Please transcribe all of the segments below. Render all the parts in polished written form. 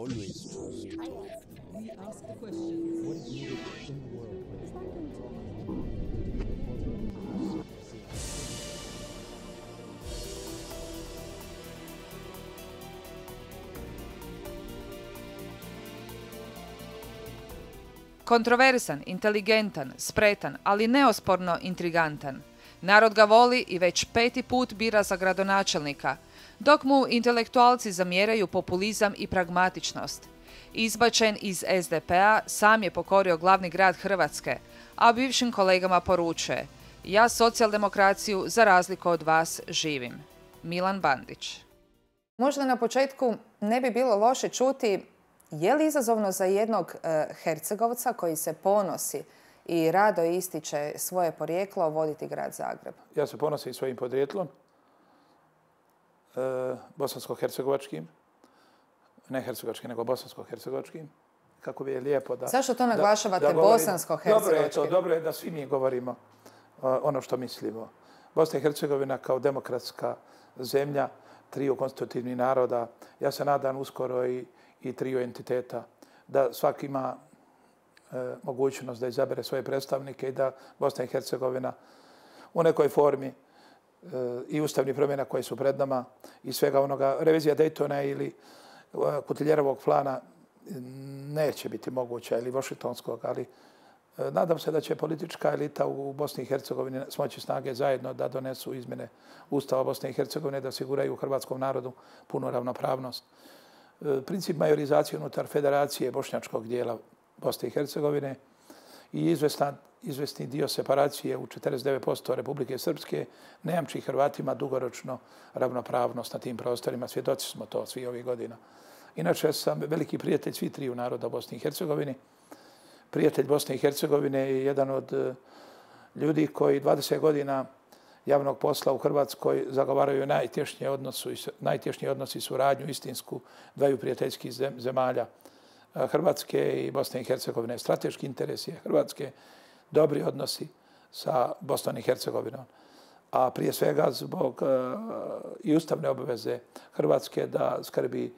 always trust. We ask the question. What is needed in the world? Kontroversan, inteligentan, spretan, ali neosporno intrigantan. Narod ga voli i već 5. put bira za gradonačelnika, dok mu intelektualci zamjeraju populizam i pragmatičnost. Izbačen iz SDP-a, sam je pokorio glavni grad Hrvatske, a bivšim kolegama poručuje: ja socijaldemokraciju za razliku od vas živim. Milan Bandić. Možda na početku ne bi bilo loše čuti je li izazovno za jednog Hercegovca koji se ponosi i rado ističe svoje porijeklo voditi grad Zagreb? Ja se ponosim svojim podrijetlom, bosansko-hercegovačkim, ne hercegovačkim, nego bosansko-hercegovačkim. Kako bi je lijepo da... Zašto to naglašavate bosansko-hercegovačkim? Dobro je da svi mi govorimo ono što mislimo. Bosna i Hercegovina kao demokratska zemlja, triju konstitutivnih naroda, ja se nadam uskoro i triju entiteta, da svaki ima mogućnost da izabere svoje predstavnike i da Bosna i Hercegovina u nekoj formi i ustavnih promjena koje su pred nama i svega onoga, revizija Daytona ili Kutiljerovog plana neće biti moguća, ili Washingtonskog, ali nadam se da će politička elita u Bosni i Hercegovini smoći snage zajedno da donesu izmjene Ustava Bosne i Hercegovine, da osiguraju hrvatskom narodu punu ravnopravnost. Princip majorizacije unutar federacije bošnjačkog dijela Bosne i Hercegovine i izvesni dio separacije u 49% Republike Srpske ne jamči Hrvatima dugoročno ravnopravnost na tim prostorima. Svjedoci smo to svi ovih godina. Inače sam veliki prijatelj svih triju naroda u Bosni i Hercegovini. Prijatelj Bosne i Hercegovine je jedan od ljudi koji 20 godina javnog posla u Hrvatskoj zagovaraju najtješnije odnosi i suradnju istinsku dvaju prijateljskih zemalja, Hrvatske i Bosne i Hercegovine. Strateški interes je Hrvatske, dobri odnosi sa Bosnom i Hercegovinom, a prije svega zbog i ustavne obaveze Hrvatske da skrbi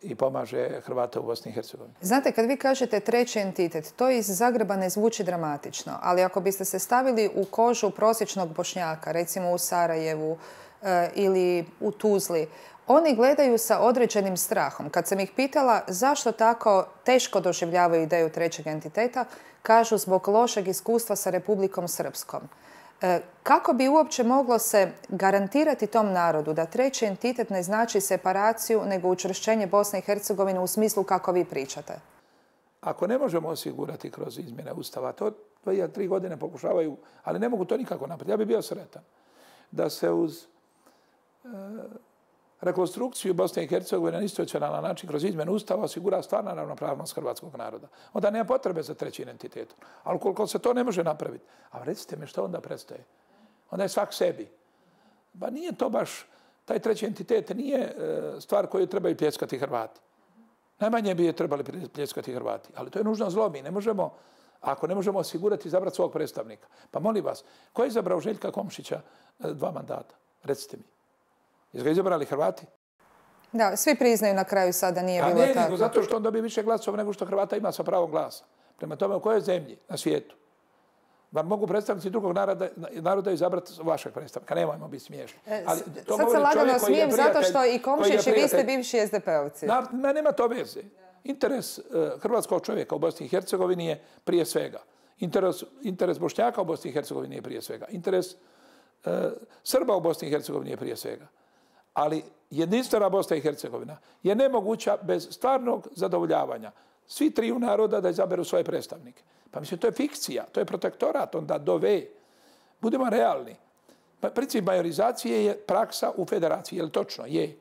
i pomaže Hrvata u Bosni i Hercegovini. Znate, kad vi kažete treći entitet, to iz Zagreba ne zvuči dramatično, ali ako biste se stavili u kožu prosječnog Bošnjaka, recimo u Sarajevu ili u Tuzli, oni gledaju sa određenim strahom. Kad sam ih pitala zašto tako teško doživljavaju ideju trećeg entiteta, kažu zbog lošeg iskustva sa Republikom Srpskom. Kako bi uopće moglo se garantirati tom narodu da treći entitet ne znači separaciju, nego učvršćenje Bosne i Hercegovine u smislu kako vi pričate? Ako ne možemo osigurati kroz izmjene Ustava, to 3 godine pokušavaju, ali ne mogu to nikako napraviti. Ja bih bio sretan da se uz rekonstrukciju Bosne i Hercegovine na institucionalan način kroz izmjenu Ustava osigura stvarna ravnopravnost hrvatskog naroda. Onda nema potrebe za trećim entitetom. Ali ukoliko se to ne može napraviti, a recite mi što onda prestaje? Onda je svak sebi. Pa nije to baš, taj treći entitet nije stvar koju trebaju pljeskati Hrvati. Najmanje bi je trebali pljeskati Hrvati, ali to je nužno zlo. Mi ne možemo, ako ne možemo osigurati izabrati svog predstavnika. Pa molim vas, ko je izabrao Željka Komšića 2 mandata? Recite mi. Jesu ga izabrali Hrvati? Da, svi priznaju na kraju sada nije bilo tako. Nego zato što on dobije više glasova nego što Hrvata ima sa pravom glasa. Prema tome, u kojoj zemlji na svijetu vam mogu predstavnici drugog naroda izabrati vašeg predstavnika? Nemojmo biti smiješni. Sad se lagano smijem zato što i Komšić i vi ste bivši SDP-ovci. Nema to veze. Interes hrvatskog čovjeka u Bosni i Hercegovini je prije svega. Interes Bošnjaka u Bosni i Hercegovini je prije svega. Interes Srba u Bosni i Hercegovini je prije svega. Ali jedinstvena Bosna i Hercegovina je nemoguća bez stvarnog zadovoljavanja svi triju naroda da izaberu svoje predstavnike. Pa mislim, to je fikcija, to je protektorat, onda dove. Budemo realni. Princip majorizacije je praksa u federaciji, je li točno? Je.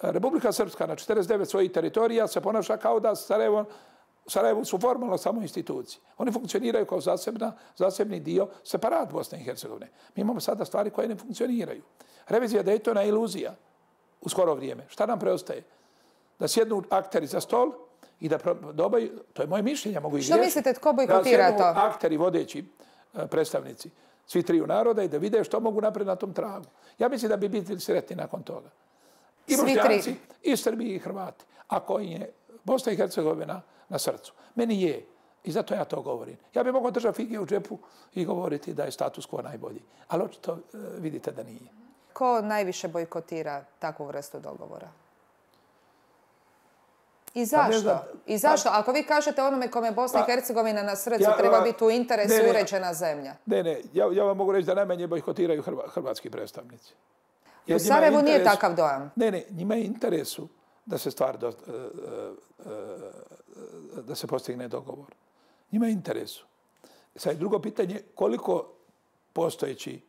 Republika Srpska na 49 svojih teritorija se ponaša kao da Sarajevo su formalno samo institucije. Oni funkcioniraju kao zasebni dio, separat Bosne i Hercegovine. Mi imamo sada stvari koje ne funkcioniraju. Revizija Daytona je iluzija u skoro vrijeme. Šta nam preostaje? Da sjednu akteri za stol i da dobaju, to je moje mišljenje, mogu i griješiti. Što mislite, tko bojkotira to? Da sjednu akteri, vodeći predstavnici svi triju naroda i da vide što mogu napraviti na tom tragu. Ja mislim da bi bili sretni nakon toga. I Bošnjaci, i Srbi, i Hrvati. ako im je Bosna i Hercegovina na srcu. Meni je. I zato ja to govorim. Ja bih mogao držati fige u džepu i govoriti da je status quo najbolji. Ali očito vidite da nije. Ko najviše bojkotira takvu vrstu dogovora? I zašto? I zašto? Ako vi kažete onome kome je Bosna i Hercegovina na srcu, treba biti u interesu uređena zemlja. Ne. Ja vam mogu reći da najmanje bojkotiraju hrvatski predstavnici. U Sarajevu nije takav dojam. Ne, njima je interesu da se stvar da se postigne dogovor. Njima je interesu. Sad drugo pitanje, koliko postojeći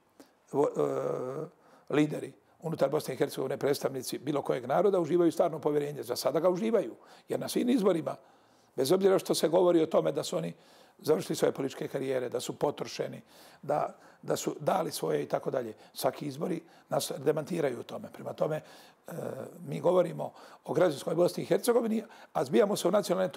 lideri unutar Bosne i Hercegovine, predstavnici bilo kojeg naroda, uživaju stvarno povjerenje. Za sada ga uživaju. Jer na svim izborima, bez obzira što se govori o tome da su oni završili svoje političke karijere, da su potrošeni, da su dali svoje i tako dalje. Svaki izbori nas demantiraju u tome. Prema tome, mi govorimo o građanskoj Bosni i Hercegovini, a zbijamo se u nacionalne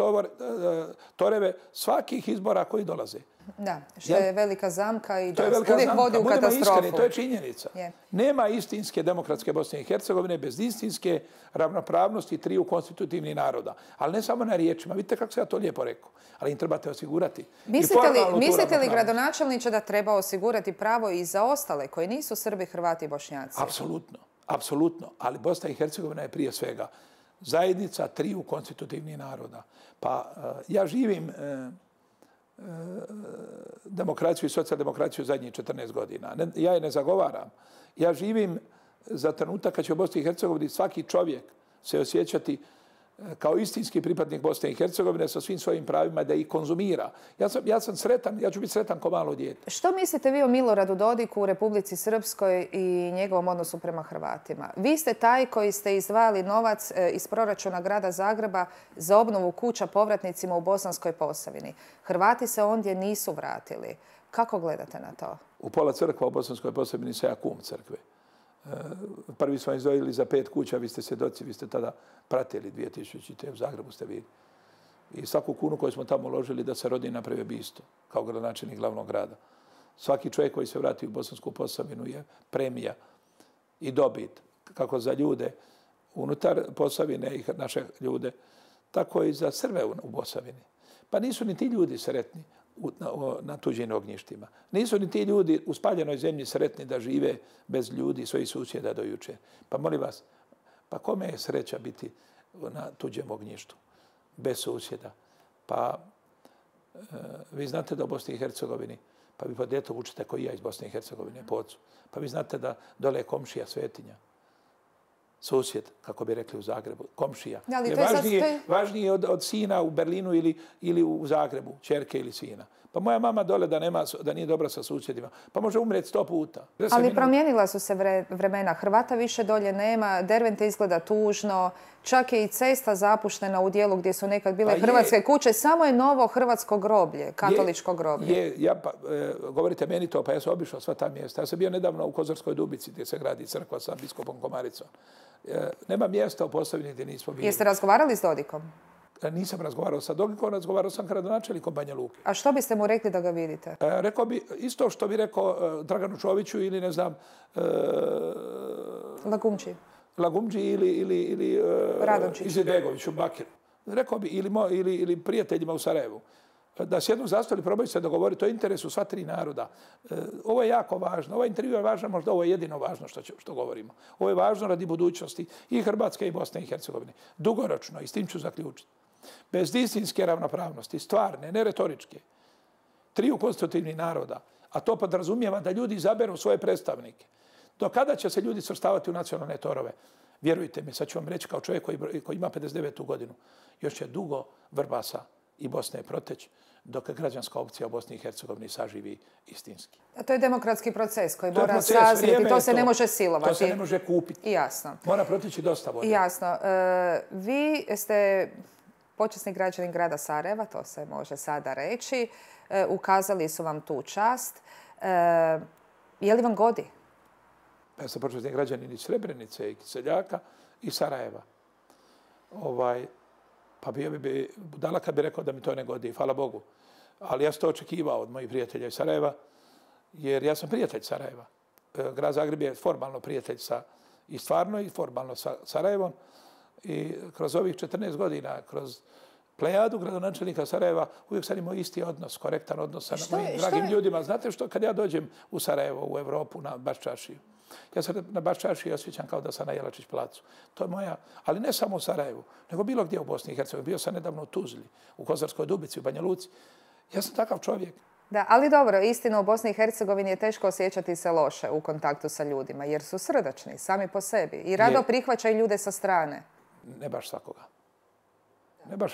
toreve svakih izbora koji dolaze. Da, što je velika zamka i da uvijek vodi u katastrofu. Iskreni, to je činjenica. Nema istinske demokratske Bosne i Hercegovine bez istinske ravnopravnosti triju konstitutivnih naroda. Ali ne samo na riječima. Vidite kako se ja to lijepo rekao. Ali im trebate osigurati. Mislite li, gradonačelniče, da treba osigurati pravo i za ostale koji nisu Srbi, Hrvati i Bošnjaci? Apsolutno. Ali Bosna i Hercegovina je prije svega zajednica triju konstitutivnih naroda. Pa ja živim demokraciju i socijaldemokraciju zadnjih 14 godina. Ja je ne zagovaram. Ja živim za trenutak kad će u Bosni i Hercegovini svaki čovjek se osjećati kao istinski pripadnik Bosne i Hercegovine sa svim svojim pravima da ih konzumira. Ja sam sretan, ja ću biti sretan ko malo dijete. Što mislite vi o Miloradu Dodiku u Republici Srpskoj i njegovom odnosu prema Hrvatima? Vi ste taj koji ste izdvajali novac iz proračuna grada Zagreba za obnovu kuća povratnicima u Bosanskoj Posavini. Hrvati se ondje nisu vratili. Kako gledate na to? U pola crkva u Bosanskoj Posavini se ja kum crkve. Prvi smo izdvojili za 5 kuća, vi ste svjedoci, vi ste tada pratili 2000. U Zagrebu ste bili. I svaku kunu koju smo tamo uložili da se Rodin napravi bisto, kao gradonačelnik glavnog grada. Svaki čovjek koji se vrati u Bosansku Posavinu je premija i dobit, kako za ljude unutar Posavine i naše ljude, tako i za Srbe u Posavini. Pa nisu ni ti ljudi sretni na tuđim ognjištima. Nisu ni ti ljudi u spaljenoj zemlji sretni da žive bez ljudi, svojih susjeda do juče. Pa molim vas, pa kome je sreća biti na tuđem ognjištu, bez susjeda? Pa vi znate da u Bosni i Hercegovini, pa vi pod djetom učite koji ja iz Bosne i Hercegovine, po ocu, pa vi znate da dole je komšija Svetinja, susjed, kako bi rekli u Zagrebu, komšija. Je važnije od sina u Berlinu ili u Zagrebu, ćerke ili sina. Pa moja mama dole da nije dobra sa susjedima, pa može umrijeti 100 puta. Ali promijenila su se vremena. Hrvata više dolje nema, Dervente izgleda tužno, čak je i cesta zapuštena u dijelu gdje su nekad bile hrvatske kuće. Samo je novo hrvatsko groblje, katoličko groblje. Govorite meni to, pa ja sam obišao sva ta mjesta. Ja sam bio nedavno u Kozarskoj Dubici gdje se gradi crkva sa biskupom Komaricom. Nema mjesta u Posavini gdje nismo bili. Jeste razgovarali s Dodikom? Nisam razgovarao sa Dodikom, razgovarao sam gradonačelnikom Banja Luke. A što biste mu rekli da ga vidite? Rekao bi isto što bi rekao Draganu Čoviću ili ne znam... Lagumđi ili Izetbegoviću, Bakiru. Rekao bi ili prijateljima u Sarajevu. Da sjednu za stol i probaju se dogovoriti o interesu sva tri naroda. Ovo je jako važno. Ovaj intervju je važno, možda ovo je jedino važno što govorimo. Ovo je važno radi budućnosti i Hrvatske i Bosne i Hercegovine. Dugoročno, i s tim ću zaključiti. Bez istinske ravnopravnosti, stvarne, ne retoričke, triju konstitutivnih naroda, a to podrazumijeva da ljudi izaberu svoje predstavnike. Do kada će se ljudi svrstavati u nacionalne torove? Vjerujte mi, sad ću vam reći kao čovjek koji ima 59. godinu, još će dugo Vrbasa i Bosne proteći dok građanska opcija u Bosni i Hercegovini saživi istinski. A to je demokratski proces koji mora sazriti, to se ne može silovati. To se ne može kupiti. Jasno. Mora proteći dosta vode. Jasno. Vi ste počasni građanin grada Sarajeva, to se može sada reći. Ukazali su vam tu čast. Je li vam godi? Ja sam počasni građanin iz Srebrenice, i Kiseljaka i Sarajeva. Pa bio bi budala kad bi rekao da mi to ne godi, hvala Bogu. Ali ja sam to očekivao od mojih prijatelja iz Sarajeva, jer ja sam prijatelj Sarajeva. Grad Zagreb je formalno prijatelj i stvarno i formalno sa Sarajevom. I kroz ovih 14 godina, kroz plejadu gradonačelnika Sarajeva, uvijek sam imao isti odnos, korektan odnos sa mojim dragim ljudima. Znate što, kad ja dođem u Sarajevo, u Evropu, na Baščašiju, ja se na Baščašiji osjećam kao da sam na Jelačić placu. To je moja, ali ne samo u Sarajevu, nego bilo gdje u Bosni i Hercegovini. Bio sam nedavno u Tuzli, u Kozarskoj Dubici, u Banja Luci. Ja sam takav čovjek. Da, ali dobro, istina u Bosni i Hercegovini je teško osjećati se loše u kontaktu sa ljudima, jer su srdačni, sami po sebi. I rado prihvaćaju ljude sa strane. Ne baš svakoga.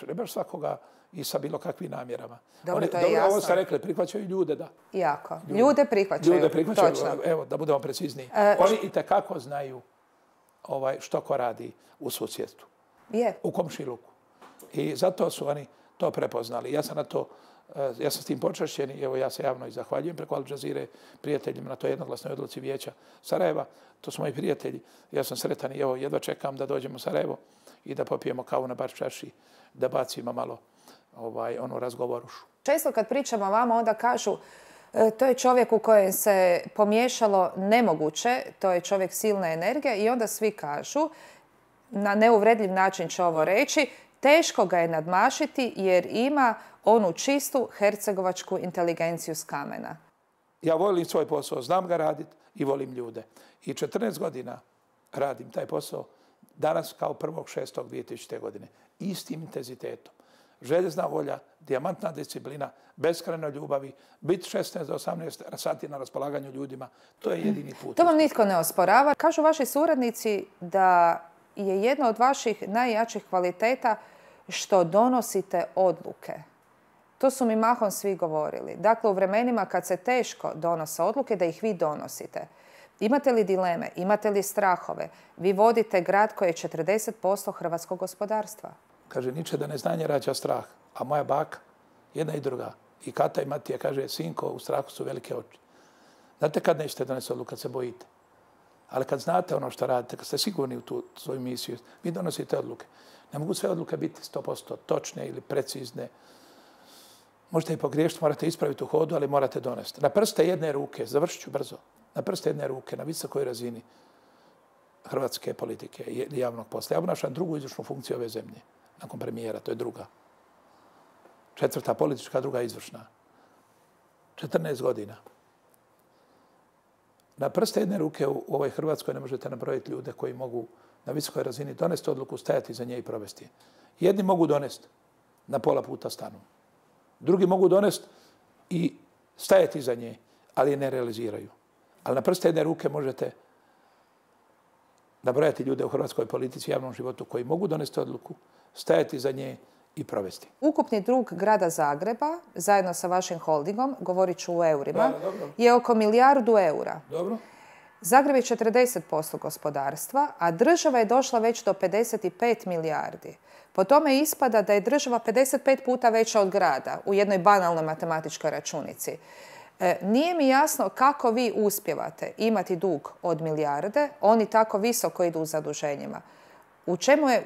Ne baš svakoga i sa bilo kakvim namjerama. Dobro, to je jasno. Ovo ste rekli, prihvaćaju ljude, da. Jako. Ljude prihvaćaju, točno. Evo, da budemo precizniji. Oni itekako znaju što ko radi u susjedstvu. U komšiluku. I zato su oni to prepoznali. Ja sam s tim počašćen i evo ja se javno i zahvaljujem preko Al Jazeere prijateljima na toj jednoglasnoj odluci Vijeća Sarajeva. To su moji prijatelji. Ja sam sretan i evo jedva čekam da dođemo u Sarajevo i da popijemo kavu na Baščaši, da bacimo malo onu razgovorušu. Često kad pričamo o vama, onda kažu to je čovjek u kojem se pomiješalo nemoguće, to je čovjek silne energije i onda svi kažu, na neuvredljiv način će ovo reći, teško ga je nadmašiti jer ima onu čistu hercegovačku inteligenciju s kamena. Ja volim svoj posao, znam ga raditi i volim ljude. I 14 godina radim taj posao, danas kao 1.6.2000. godine. Istim intenzitetom. Željezna volja, dijamantna disciplina, beskrajno ljubavi, biti 16 do 18 sati na raspolaganju ljudima, to je jedini put. To vam nitko ne osporava. Kažu vaši suradnici da je jedna od vaših najjačih kvaliteta što donosite odluke. To su mi mahom svi govorili. Dakle, u vremenima kad se teško donose odluke, da ih vi donosite. Imate li dileme, imate li strahove? Vi vodite grad koji je 40% hrvatskog gospodarstva. Kaže, niče da neznanje rađa strah, a moja baka, jedna i druga, i Kata i Matija, kaže, sinko, u strahu su velike oči. Znate kad nećete donesti odluku, kad se bojite. Ali kad znate ono što radite, kad ste sigurni u tu svoju misiju, vi donosite odluke. Ne mogu sve odluke biti 100% točne ili precizne. Možete i pogriješiti, morate ispraviti u hodu, ali morate donesti. Na prste jedne ruke, završit ću brzo, na prste jedne ruke, na visokoj razini hrvatske politike i javnog posla. Ja obnašam drugu izvršnu funkciju ove zemlje, nakon premijera, to je druga. 4. politička, druga izvršna. 14 godina. Na prste jedne ruke u ovoj Hrvatskoj ne možete nabrojiti ljude koji mogu na visokoj razini donesti odluku, stajati za nje i provesti. Jedni mogu donesti, na pola puta stanu. Drugi mogu donesti i stajati za nje, ali je ne realiziraju. Ali na prste jedne ruke možete nabrojati ljude u hrvatskoj politici i javnom životu koji mogu donesti odluku, stajati za nje i provesti. Ukupni dug grada Zagreba, zajedno sa vašim holdingom, govorit ću u eurima, je oko 1 milijardu eura. Dobro. Zagreb je 40% gospodarstva, a država je došla već do 55 milijardi. Po tome ispada da je država 55 puta veća od grada u jednoj banalnoj matematičkoj računici. Nije mi jasno kako vi uspijevate imati dug od milijarde, oni tako visoko idu u zaduženjima.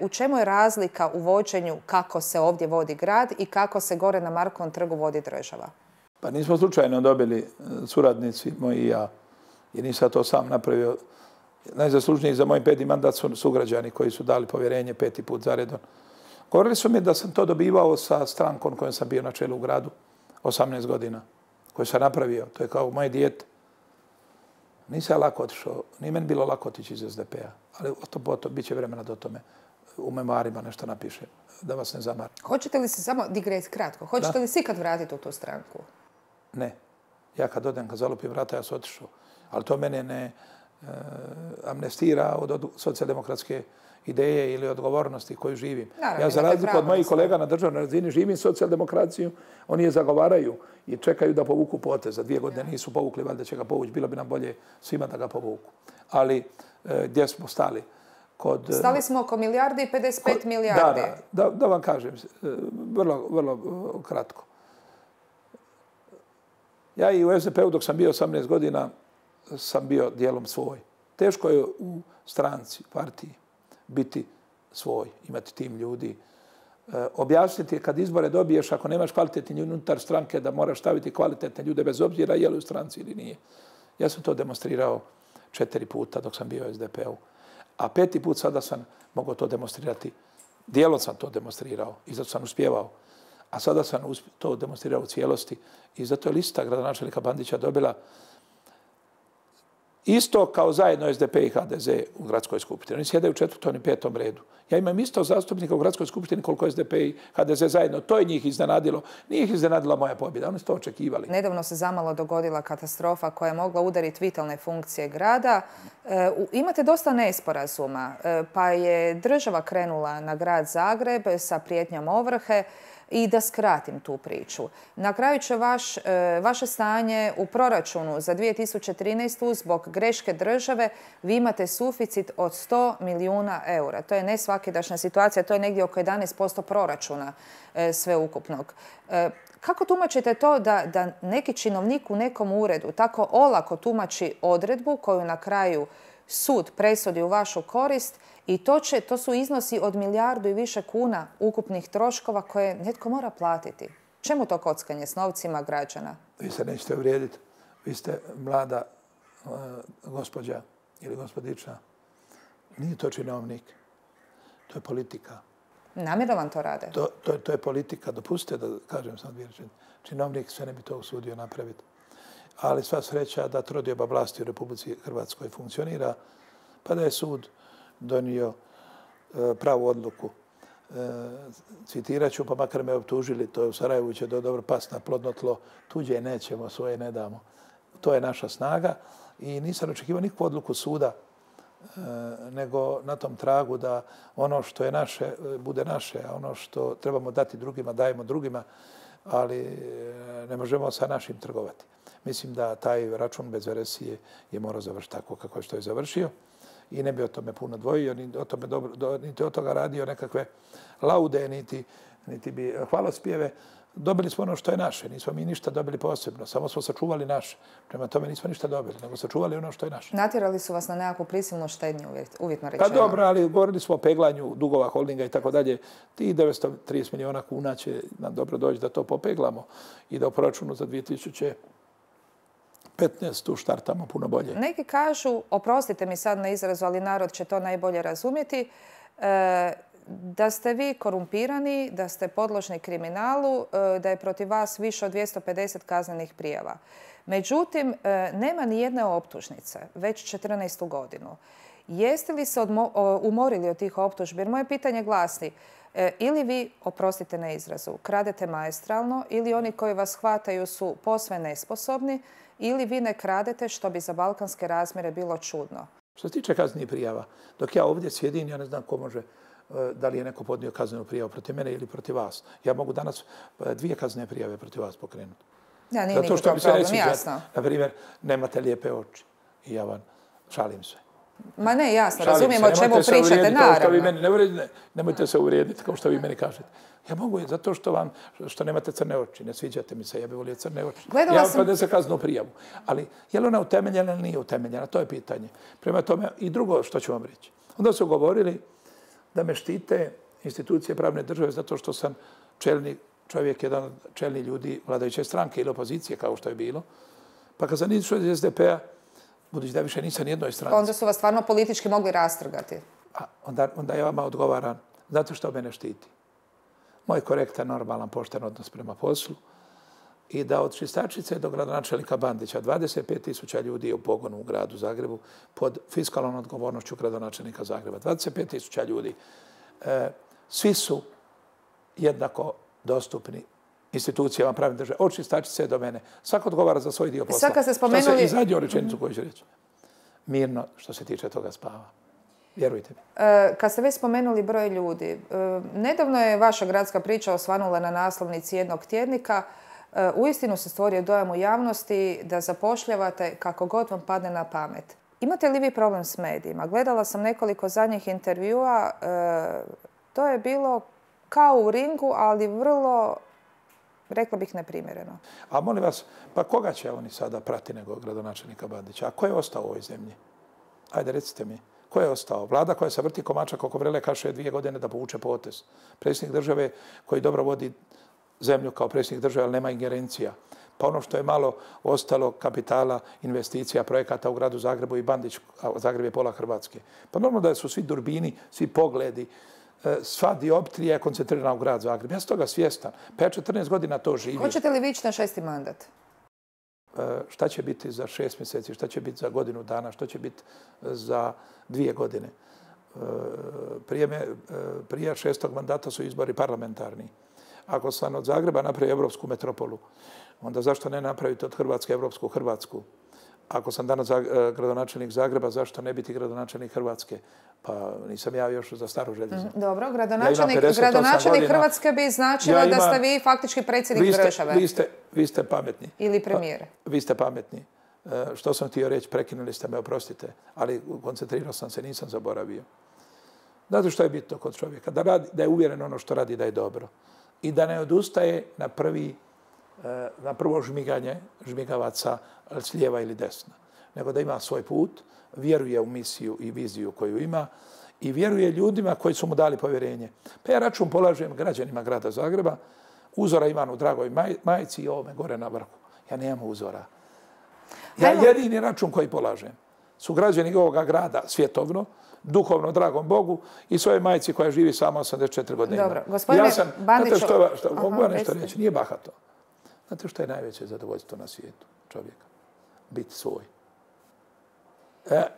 U čemu je razlika u vođenju kako se ovdje vodi grad i kako se gore na Markovom trgu vodi država? Pa nismo slučajno dobili suradnici moji i ja, jer nisam to sam napravio. Najzaslužniji za moj 5. mandat su sugrađani koji su dali povjerenje 5. put zaredom. Govorili su mi da sam to dobivao sa strankom kojom sam bio na čelu u gradu 18 godina, koju sam napravio. To je kao moje dijete. Nisam lako otišao, nije meni bilo lako otići iz SDP-a, ali to bit će vremena do tome. U memoarima nešto napiše, da vas ne zamara. Hoćete li se samo digret kratko? Hoćete li se ikad vratiti u tu stranku? Ne. Ja kad odem, kad zalupim vrata, ja sam otišao. Ali to mene ne amnestira od socijaldemokratske ideje ili odgovornosti koju živim. Ja za razliku od mojih kolega na državnoj razini živim socijaldemokraciju, oni je zagovaraju i čekaju da povuku potez. Za 2 godine nisu povukli, valjda će ga povući. Bilo bi nam bolje svima da ga povuku. Ali gdje smo stali? Stali smo oko 1 milijardi i 55 milijardi. Da vam kažem, vrlo kratko. Ja i u SDP-u dok sam bio 18 godina sam bio dijelom svoj. Teško je u stranci, partiji, biti svoj, imati tim ljudi. Objasniti kad izbore dobiješ, ako nemaš kvalitetni unutar stranke, da moraš staviti kvalitetne ljude bez obzira je li u stranci ili nije. Ja sam to demonstrirao 4 puta dok sam bio u SDP-u. A 5. put sada sam mogao to demonstrirati. Dijelom sam to demonstrirao i zato sam uspjevao. A sada sam to demonstrirao u cijelosti i zato je lista gradonačelnika Bandića dobila isto kao zajedno SDP i HDZ u gradskoj skupštini. Oni sjedaju u 4. i 5. redu. Ja imam isto zastupnika u gradskoj skupštini koliko SDP i HDZ zajedno. To je njih iznenadilo. Nije ih iznenadila moja pobjeda. Oni su to očekivali. Nedavno se zamalo dogodila katastrofa koja je mogla udariti vitalne funkcije grada. Imate dosta nesporazuma, pa je država krenula na grad Zagreb sa prijetnjom ovrhe. I da skratim tu priču. Na kraju će vaše stanje u proračunu za 2013. zbog greške države vi imate suficit od 100 milijuna eura. To je nesvakidašnja situacija, to je negdje oko 11% proračuna sveukupnog. Kako tumačite to da neki činovnik u nekom uredu tako olako tumači odredbu koju na kraju sud presudi u vašu korist i to su iznosi od milijardu i više kuna ukupnih troškova koje netko mora platiti? Čemu to kockanje s novcima građana? Vi se nećete uvrijediti. Vi ste mlada gospođa ili gospodična. Nije to činovnik. To je politika. Namjerno vam to rade? To je politika. Dopustite da kažem sam dvije rečenice. Činovnik sve ne bi to usudio napraviti. Ali sva sreća da trodioba vlasti u Republici Hrvatskoj funkcionira, pa da je sud donio pravu odluku. Citirat ću, pa makar me optužili, to je u Sarajevu će dobro past na plodno tlo, tuđe nećemo, svoje ne damo. To je naša snaga i nisam očekivao nikakvu odluku suda, nego na tom tragu da ono što je naše bude naše, a ono što trebamo dati drugima dajemo drugima, ali ne možemo sa našim trgovati. Mislim da taj račun bez veresije je morao završiti tako kako je što je završio i ne bi o tome puno dvojio, niti od toga radio nekakve laude, niti bi hvalospjeve. Dobili smo ono što je naše, nismo mi ništa dobili posebno, samo smo sačuvali naše. Prema tome nismo ništa dobili, nego sačuvali ono što je naše. Natjerali su vas na nekakvu prisilnu štednju, uvjetno rečeno. Pa dobro, ali govorili smo o peglanju dugova holdinga i tako dalje. Ti 930 milijuna kuna će nam dobro doći da to popeglamo i da u proračunu za 2015. štartamo puno bolje. Neki kažu, oprostite mi sad na izrazu, ali narod će to najbolje razumjeti, da ste vi korumpirani, da ste podložni kriminalu, da je protiv vas više od 250 kaznenih prijava. Međutim, nema ni jedne optužnice, već 14. godinu. Jeste li se umorili od tih optužbi? Jer moje pitanje glasi, ili vi, oprostite na izrazu, kradete maestralno, ili oni koji vas hvataju su posve nesposobni, ili vi ne kradete, što bi za balkanske razmjere bilo čudno? Što se tiče kaznenih prijava, dok ja ovdje sjedim, ja ne znam ko može, da li je neko podnio kaznenu prijavu protiv mene ili protiv vas. Ja mogu danas 2 kaznene prijave protiv vas pokrenuti. Ja, nije nikakav problem, jasno. Na primjer, nemate lijepe oči i ja vam šalim se. Ma ne, jasno, razumijemo o čemu pričate, naravno. Nemojte se uvrijediti kao što vi meni kažete. Ja mogu je zato što nemate crne oči, ne sviđate mi se, ja bih volio crne oči. Ja vam podnesem kaznenu prijavu. Ali je li ona utemeljena ili nije utemeljena, to je pitanje. Prema tome, i drugo što ću vam reći. Onda su govorili da me štite institucije pravne države zato što sam čelni čovjek, jedan od čelnih ljudi vladajuće stranke ili opozicije, kao što je bilo. Pa kad sam išao iz SDP-a, budući da više nisam jednoj stranci. Onda su vas stvarno politički mogli rastrgati. Onda ja vama odgovaram zato što mene štiti. Moj korektan, normalan, pošten odnos prema poslu i da od čistačice do gradonačelnika Bandića 25.000 ljudi je u pogonu u gradu Zagrebu pod fiskalnom odgovornošću gradonačelnika Zagreba. 25.000 ljudi. Svi su jednako dostupni institucijama pravne države. Od čistačice do mene. Svako odgovara za svoj dio posla. Sad kad ste spomenuli... I zadnju rečenicu koju ću reći. Mirno što se tiče toga spava. Vjerujte mi. Kad ste već spomenuli broj ljudi, nedavno je vaša gradska priča osvanula na naslovnici jednog tjednika. Uistinu se stvorio dojam u javnosti da zapošljavate kako god vam padne na pamet. Imate li vi problem s medijima? Gledala sam nekoliko zadnjih intervjua. To je bilo kao u ringu, ali vrlo, rekla bih, neprimjereno. A molim vas, pa koga će oni sada prati nego gradonačelnika Bandića? A ko je ostao u ovoj zemlji? Ajde, recite mi. Ko je ostao? Vlada koja se vrti komačak oko vrele kaše 2 godine da povuče potez. Predsjednik države koji dobro vodi zemlju kao predsjednik države, ali nema ingerencija. Pa ono što je malo ostalo kapitala, investicija, projekata u gradu Zagrebu i Bandić, a Zagreb je pola Hrvatske. Pa normalno da su svi durbini, svi pogledi, sva dioptrija je koncentrirana u grad Zagreb. Ja sam toga svjestan. Pa ja 14 godina to živim. Hoćete li vi ići na 6. mandat? Šta će biti za 6 mjeseci, šta će biti za godinu dana, što će biti za 2 godine. Prije 6. mandata su izbori parlamentarni. Ako sam od Zagreba napravio evropsku metropolu, onda zašto ne napraviti od Hrvatske evropsku Hrvatsku? Ako sam danas gradonačelnik Zagreba, zašto ne biti gradonačelnik Hrvatske? Pa nisam ja još za staro željezo. Dobro, gradonačelnik Hrvatske bi značilo da ste vi faktički predsjednik države. Vi ste pametni. Ili premijer. Vi ste pametni. Što sam htio reći, prekinuli ste me, oprostite, ali koncentrirao sam se, nisam zaboravio. Znate što je bitno kod čovjeka? Da je uvjeren ono što radi da je dobro. I da ne odustaje na prvo žmigavaca s lijeva ili desna. Nego da ima svoj put, vjeruje u misiju i viziju koju ima i vjeruje ljudima koji su mu dali povjerenje. Pa ja račun polažem građanima grada Zagreba, uzora imam u dragoj majici i ovome gore na vrhu. Ja nemam uzora. Ja jedini račun koji polažem su građani ovoga grada svjetovno, duhovno, dragom Bogu i svoje majici koja živi samo 84 godine. Dobro, gospodine Bandiću... Znate što mogu vam nešto reći? Nije bahato. Znate što je najveće zadovoljstvo na svijetu čovjeka? Biti svoj.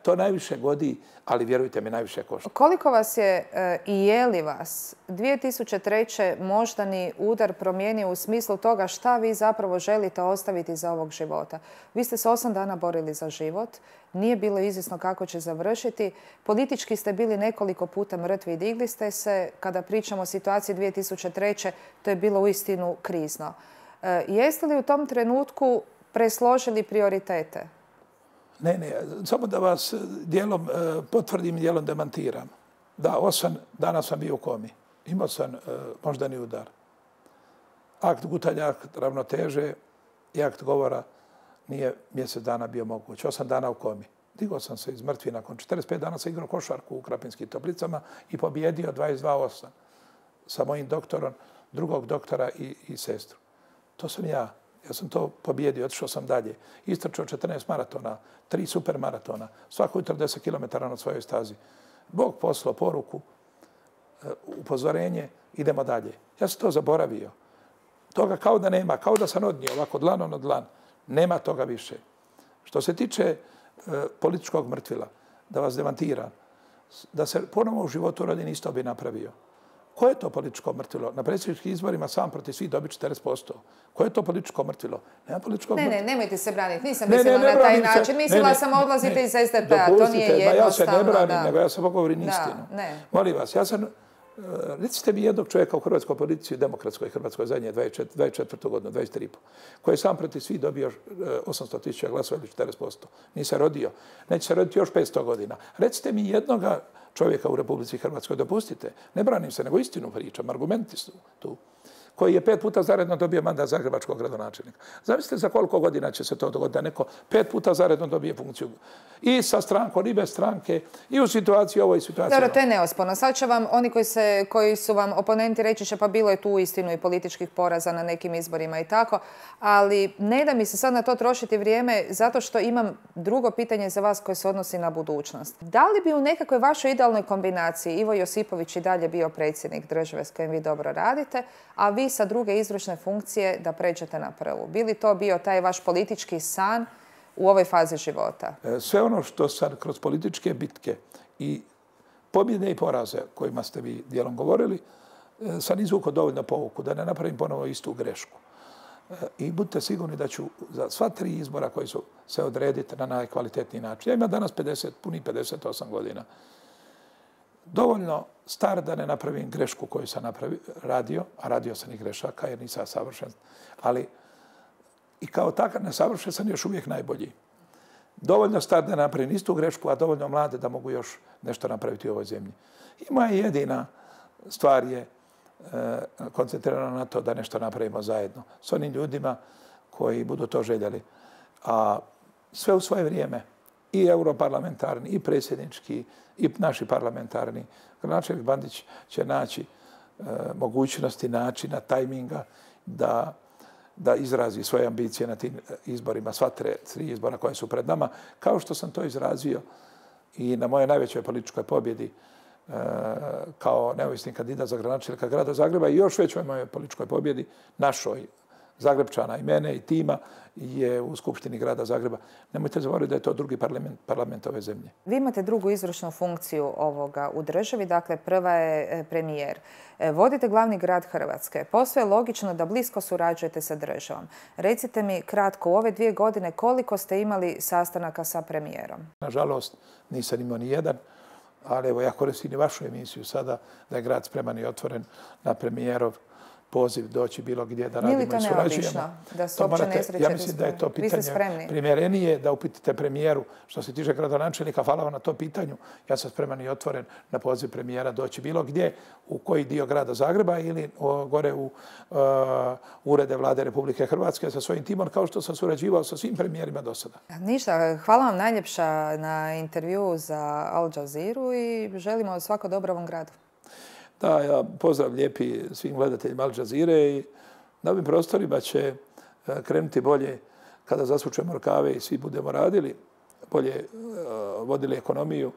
To najviše godi, ali vjerujte mi, najviše košta. Koliko vas je i je li vas 2003. moždani udar promijenio u smislu toga šta vi zapravo želite ostaviti za ovog života? Vi ste se 8 dana borili za život, nije bilo izvjesno kako će završiti. Politički ste bili nekoliko puta mrtvi i digli ste se. Kada pričamo o situaciji 2003. to je bilo uistinu krizno. Jeste li u tom trenutku presložili prioritete? Ne, samo da vas dijelom potvrdim i dijelom demantiram. Da, 8 dana sam bio u komi. Imao sam moždani udar. Akt gutanja, akt ravnoteže i akt govora nije mjesec dana bio moguć. 8 dana u komi. Digao sam se iz mrtvi nakon 45 dana sam igrao košarku u Krapinskim Toplicama i pobjedio 22-8 sa mojim doktorom, drugog doktora i sestru. To sam ja. Ja sam to pobjedio, otišao sam dalje. Istrčao 14 maratona, 3 super maratona, svako jutro 10 km na svojoj stazi. Bog poslao poruku, upozorenje, idemo dalje. Ja sam to zaboravio. Toga kao da nema, kao da sam odnio ovako dlanom na dlan. Nema toga više. Što se tiče političkog mrtvila, da vas demantiram, da se ponovo u životu rodi isto bi napravio. Koje je to političko mrtvilo? Na predsjedničkim izborima sam protiv svih dobi 40%. Koje je to političko mrtvilo? Nema političkog mrtvila. Ne, nemojte se braniti. Nisam mislila na taj način. Mislila sam odlazite iz SDP-a. To nije jednostavno. Ja se ne branim, nego ja sam govorim istinu. Molim vas, ja sam... Recite mi jednog čovjeka u hrvatskoj politici, demokratskoj Hrvatskoj zadnje 24. godinu, 23,5, koji je sam protiv svih dobio 800.000 glasova ili 40%. Nije se rodio. Neće se roditi još 500 godina. Recite mi jednoga čovjeka u Republici Hrvatskoj, dopustite, ne branim se, nego istinu pričam, argumenti su tu, koji je 5 puta zaredno dobio mandat zagrebačkog gradonačelnika. Zamislite za koliko godina će se to dogoditi da neko 5 puta zaredno dobije funkciju i sa strankom, i bez stranke, i u situaciji ovoj situaciji. Dobro, to je neosporno. Sad će vam oni koji su vam oponenti reći će pa bilo je tu istinu i političkih poraza na nekim izborima i tako, ali ne da mi se sad na to trošiti vrijeme zato što imam drugo pitanje za vas koje se odnosi na budućnost. Da li bi u nekakvoj vašoj idealnoj kombinaciji Ivo Josipović i dalje bio predsjednik države s kojim vi dobro radite, a vi sa druge izvršne funkcije da pređete na prvu? Bi li to bio taj vaš politički san u ovoj fazi života? Sve ono što sam kroz političke bitke i pobjede i poraze kojima ste vi dijelom govorili, sam izvukao dovoljno pouku da ne napravim ponovo istu grešku. I budite sigurni da ću za sva 3 izbora koji su se odrediti na najkvalitetniji način. Ja imam danas punih 58 godina. Dovoljno star da ne napravim grešku koju sam radio, a radio sam i grešaka jer nisam savršen, ali i kao takav nesavršen sam još uvijek najbolji. Dovoljno star da ne napravim istu grešku, a dovoljno mlade da mogu još nešto napraviti u ovoj zemlji. I moja jedina stvar je koncentrirana na to da nešto napravimo zajedno s onim ljudima koji budu to željeli. A sve u svoje vrijeme, i europarlamentarni, i predsjednički, i naši parlamentarni. Gradonačelnik Bandić će naći mogućnosti, načina, tajminga da da izrazi svoje ambicije na tim izborima, sva tri izbora koje su pred nama, kao što sam to izrazio i na moje najvećoj političkoj pobjedi kao neovisni kandidat za gradonačelnika grada Zagreba i još većoj mojoj političkoj pobjedi, našoj Zagrebčana i mene i tima, je u Skupštini grada Zagreba. Nemojte zaboraviti da je to drugi parlament ove zemlje. Vi imate drugu izvršnu funkciju ovoga u državi, dakle prva je premijer. Vodite glavni grad Hrvatske. Posve je logično da blisko surađujete sa državom. Recite mi kratko, u ove 2 godine koliko ste imali sastanaka sa premijerom? Nažalost, nisam imao ni jedan, ali evo ja koristim i vašu emisiju sada da je grad spreman i otvoren na premijerov poziv doći bilo gdje da radimo i surađujemo. Nije li to neobično da se uopće ne srećete? Ja mislim da je to pitanje primjerenije da upitite premijeru. Što se tiče gradonačelnika, hvala vam na tom pitanju. Ja sam spreman i otvoren na poziv premijera doći bilo gdje, u koji dio grada Zagreba ili gore u urede vlade Republike Hrvatske sa svojim timom, kao što sam surađivao sa svim premijerima do sada. Ništa, hvala vam najljepša na intervju za Al Jazeera i želimo svako dobro ovom gradu. Da, ja pozdrav lijepi svim gledateljima Al Jazeere i na ovim prostorima će krenuti bolje kada zasučemo rukave i svi budemo radili, bolje vodili ekonomiju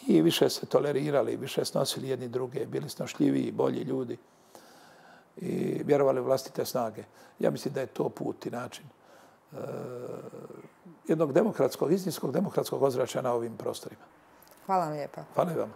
i više se tolerirali, više snosili jedni druge, bili snošljiviji, bolji ljudi i vjerovali u vlastite snage. Ja mislim da je to put i način jednog demokratskog, istinskog demokratskog ozračja na ovim prostorima. Hvala vam lijepa. Hvala vam.